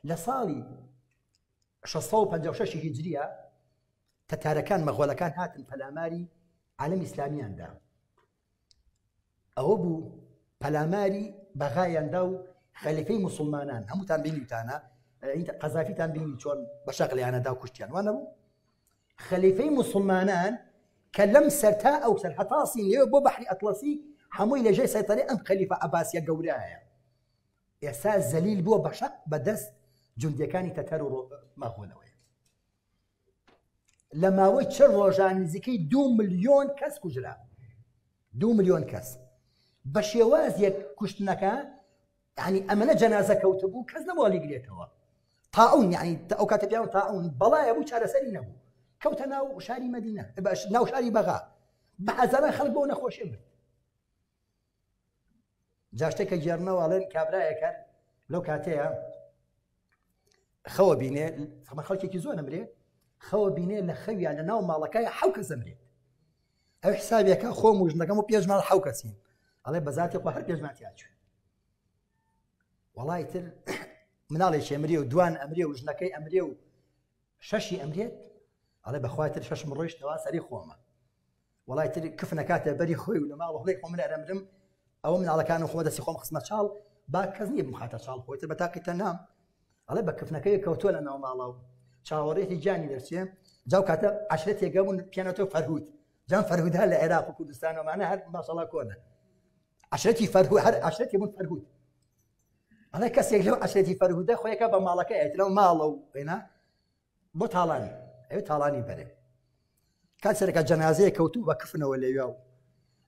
لە ساڵی 656 هیجریە تەتارەکان مەغۆلەکان هاتن پەلاماری عالەمی ئیسلامیان دا. ئەوە بوو پەلاماری بەغایان دا و خەلیفەی موسڵمانان هەمووتان بینیوتانە قەزافیتان بینی چۆن بە شەقلیانە دا و کوشتیان وانە بوو خەلیفەی موسڵمانان کە لەم سەر تا ئەو سەر هەتا سینەوە بۆ بەحری ئەتڵەسی هەمووی لەژێر سەیتەرەی ئەم خەلیفە عەباسیە گەورەیە ئێستا زەلیل بووە بە شەق بەدەست جوندیەکانی تەتەر و مەغۆلەوەیە لە ماوەی چ ڕۆژان نزیکەی دو ملیۆن کەس کوژرا دو ملیۆن کەس بە شێوازێک کوشتنەکە یعنی ئەمەنە جەنازە کەوتبوو کەس نەبوو گرێتەوە تاعون یعنی ئەو کاتە پیاوە تاعون بەڵایە بوو چارەسەری نەبوو کەوتە ناو شاری مەدینە ناو شاری بەغا بە هەزاران خەڵک بۆ نەخۆشی مرد جا شتێکە گێڕنەوە ئەڵێن کابرایەکە لەو کاتەیە خەوە بینێ خەمە خەڵکێکی زۆر ئەمرێ خەوە بینێ لە خەویان لە ناو ماڵەکەی حەو کەس ئەمرێت ئەو حسابێکە خۆم و ژنەکەم و پێشمان حەو کەسین ئەڵێ بەزاتی خۆ هەر پێشمان تیاچوو وەڵای تر مناڵێکی ئەمرێ و دوان ئەمرێ و ژنەکەی ئەمرێ و شەشی ئەمرێت ئەڵێ بەخوای تر شەشم ڕۆیشتەوە سەری خۆمە وەڵای تر کفن ئەکاتە بەری خۆی و لە ماڵ هەڵێ خۆ من ئەرەمرم ئەوە مناڵەکان و خۆ دەستی خۆم خستمە چاڵ با کەس نییە بمخاتە چاڵ خۆی تر بە تاقی تەنام ئەڵێ بە کفنەکەی کەوتووە لە ناو ماڵە و چاوەڕێتی گیانی دەرچێ جاو کاتە عشرەتێک بوون پیانەتەوە فەرهود جام فەرهودا لە عێراق و کوردستانەوەمانە هەر ماشەڵا کۆنە عشرەتی فەرهود هەر عشرەتی بوون فەرهود ئەڵێ کەسێک لەو عشرەتی فەرهودە خۆیەکە بە ماڵەکە ئەترەوە ماڵە و پێنا بۆ تاڵانی ئەوێ تاڵانی بەرێ کات سەرەکە جەنازەیە کەوتوو بە کفنەوە لەویا و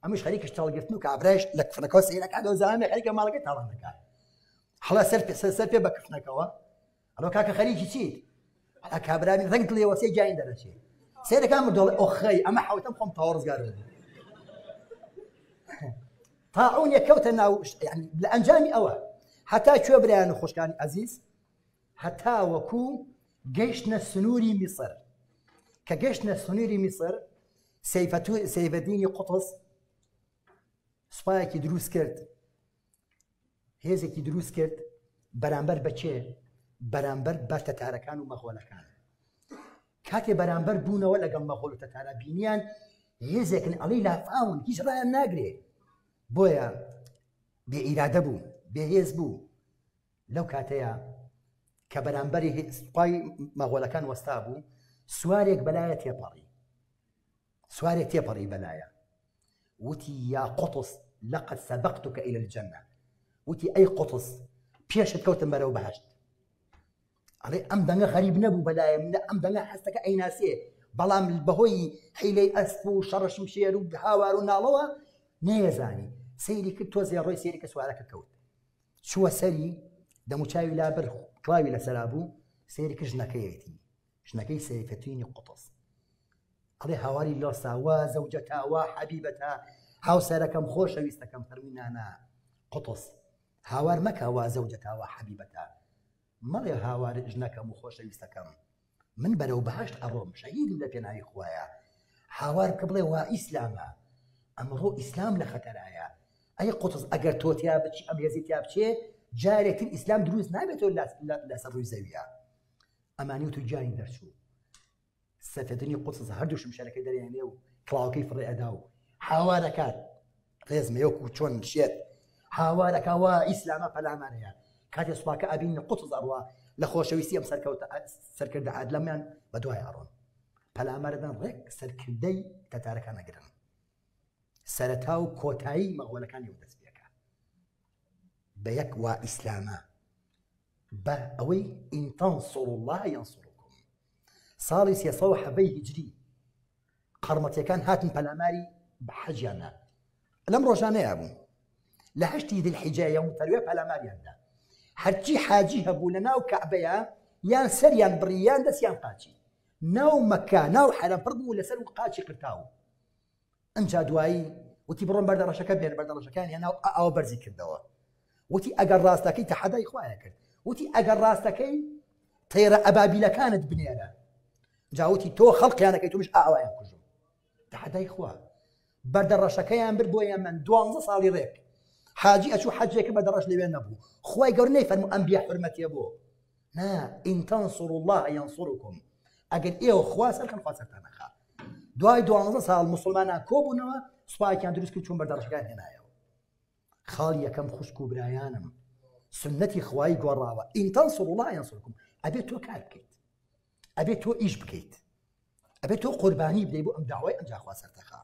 ئەمش خەریکش تاڵگرتن و کابرایش لە کفنەکەەوە سەیرەکە دۆزانێ خەریکە ماڵەکەی تاڵان دەکات هەڵا سەر پێ سەر پێ بە کفنەکەوە ئەڵۆ کاکە خەریکی چیت ئەڵا کابرانی ڕەنگ دڵێوە سێ گیانی دەرەچێ سەیرەکە مردۆڵێ ئۆخەی ئەمە حوتەم خۆم تاوە ڕزگار بوو تاعون یەکەوتە ناو لە ئەنجامی ئەوە هەتا کوێ برایان و خۆشکانی ئەزیز هەتاوەکو گەیشتنە سنووری میسر کە گەشتنە سنووری میسر سەیفەدینی قوتز سوپایەکی دروست کرد هێزێکی دروست کرد بەرامبەر بەچێ بەرامبەر بە تەتارەکان و مەغۆلەکان کاتێ بەرامبەر بوونەوە لەگەڵ مەغۆل و تەتارە بینیان هێزێکن ئەڵی لافاون هیچ ڕایان ناگرێ بۆیە بێ ئیرادە بوو بێهێز بوو لەو کاتەیا کە بەرامبەری سوپای مەغۆلەکان وەستا بوو سوارێک بەلایە تێپەڕی سوارێک تێپەڕی بەلایە وتی یا قوتس لقد سبقتك إلى الجنة وتی ئەی قوتس پێشت کەوتم بەرەو بەهشت ئەڵێ ئەم دەنگە غەریب نەبوو بەلایە منە ئەم دەنگە هەستەکە ئەیناسێ بەڵام بەهۆی حیلەی ئەسپ و شەڕە شمشێر و هاوار و ناڵەوە نەیەزانی سەیری کرد تۆزێ ڕۆی سەیری کە سوارەکە کەوت چووە سەری دەموچاوی لابرد کڵاوی لەسەرا بوو سەیری کرد ژنەکەیەتی ژنەکەی سەیفەتینی قوتز ئەڵێ هاواری لۆسا وا زەوجەتا وا حەبیبەتا هاوسەرەکەم خۆشەویستەکەم فەرمی نانا قوتز هاوار مەکە وا زەوجەتا وا حەبیبەتا مەڵێ هاوار ژنەکەم و خۆشەویستەکەم من بەرەو بەهەشت ئەڕۆم شەهیدم لە پێناوی خوایە هاوار بکە بڵێ وا ئیسلامە ئەمڕۆ ئیسلام لە خەتەرایە ئەی قوتز ئەگەر تۆ تیا بچی ئەم هێزی تیا بچێ جارێکتر ئیسلام دروست نابێتەوە لەسەر ڕووی زەویە ئەمانی و تو گیانی دەرچوو سەفێدنی قوتز هەردوو شمشێرەکەی دەرێنێ و کڵاوەکەی فڕێ ئەدا و هاوارەکات ڕێزمە وەکو چۆن شێت هاوارەکە وا ئیسلامە پەلامارەیە کاتێ سوپاکە ئەبین قوتز ئەڕوا لە خۆشەویستی ئەم سەرکەوتە سەرکردە عادلەمیان بە دوای ئەڕۆن پەلامارەدان ڕێک سەرکردەی تەتارەکان ئەگرن سەرەتا و کۆتایی مەغۆلەکانی و دەست پێکە بە یەک وا ئیسلامە بە ئەوەی إن تنصروا الله ينصركم ساڵی 317 هیجری قەڕمەتیەکان هاتن پەلاماری حەجیان نا لەم ڕۆژانەیە بوو لە هەشتی ذی الحجە یوم تەرویە پەلاماریان دا هەرچی حاجی هەبوو لە ناو کەعبەیە یان سەریان بڕی یان دەستیان قاچی ناو مەکە ناو حەرەم پڕ بوو لەسەر و قاچی قرتاو ئەمجا دوایی وتی بڕۆن بەردە ڕەشەکە بێن بەردە ڕەشەکان هێنا و ئاوە بەرزی کردەوە وتی ئەگەر ڕاستەکەی تەحەدای خوایە کرد وتی ئەگەر ڕاستەکەی تەیرە ئەبابیلەکانت بنێرە جاوتی تۆ خەڵقیانەکەی تۆش ئاوایان کوژم تەحەدای خوا بەردە ڕەشەکەیان برد بۆ یەمەن دوانزە ساڵی ڕێک حاجی ئەچوو حەجێکە بەردە ڕەش لەوێ نەبوو خوای گەورە نەیفەرموو ئەم بێ حورمەتیە بۆ. نا إن تنصروا الله ينصركم ئەگەر ئێوە خوا سەرکەن خوا سەرتان ئەخا دوای دوانزە ساڵ موسڵمانان کۆبوونەوە سوپایەکیان دروست کرد چوون بەردەڕەشەکان هێنایەوە خاڵ یەکەم خوشک و برایانم سنەتی خوایی گۆڕاوە إن تنصروا الله ينصركم ئەبێت تۆ کار بکەیت ئەبێت تۆ ئیش بکەیت ئەبێت تۆ قوربانی بدەیت بۆ ئەم داوای ئەمجا خوا سەرتەخا.